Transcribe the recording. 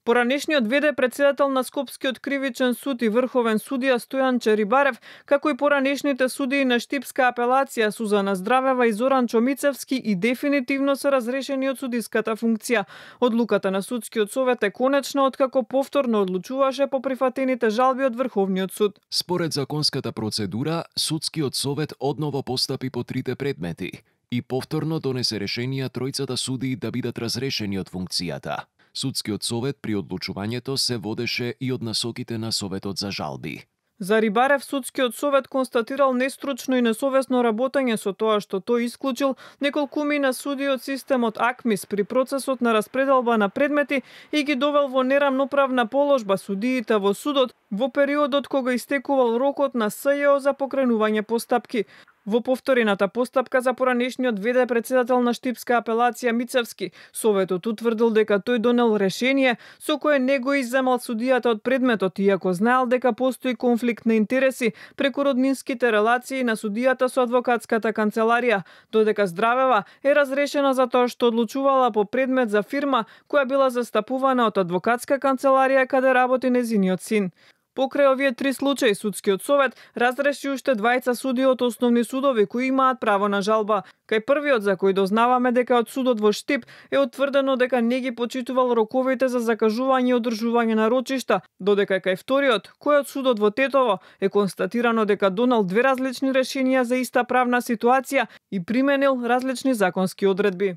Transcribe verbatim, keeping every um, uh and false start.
Поранешниот ве де председател на Скопскиот кривичен суд и врховен судија Стојан Черибарев, како и поранешните судии на Штипска апелација Сузана Здравева и Зоран Чомицевски и дефинитивно се разрешени од судиската функција. Одлуката на судскиот совет е конечна откако повторно одлучуваше по прифатените жалби од Врховниот суд. Според законската процедура, судскиот совет одново постапи по трите предмети и повторно донесе решенија тројцата судии да бидат разрешени од функцијата. Судскиот совет при одлучувањето се водеше и од насоките на Советот за жалби. За Рибарев, судскиот совет констатирал нестручно и несовесно работење со тоа што тој исклучил неколкумина судии од системот АКМИС при процесот на распределба на предмети и ги довел во нерамноправна положба судиите во судот во периодот кога истекувал рокот на С Ј О за покренување постапки. Во повторената постапка за поранешниот ве де председател на Штипска апелација Мицевски, советот утврдил дека тој донел решение со кое не го изземал судијата од предметот, иако знаел дека постои конфликт на интереси преку роднинските релации на судијата со адвокатската канцеларија, додека Здравева е разрешена за тоа што одлучувала по предмет за фирма која била застапувана од адвокатска канцеларија каде работи незиниот син. Покрај овие три случаи, судскиот совет разреши уште двајца судии од основни судови кои имаат право на жалба. Кај првиот, за кој дознаваме дека од судот во Штип е утврдено дека не ги почитувал роковите за закажување и одржување на рочишта, додека кај вториот, кој од судот во Тетово, е констатирано дека донел две различни решенија за иста правна ситуација и применил различни законски одредби.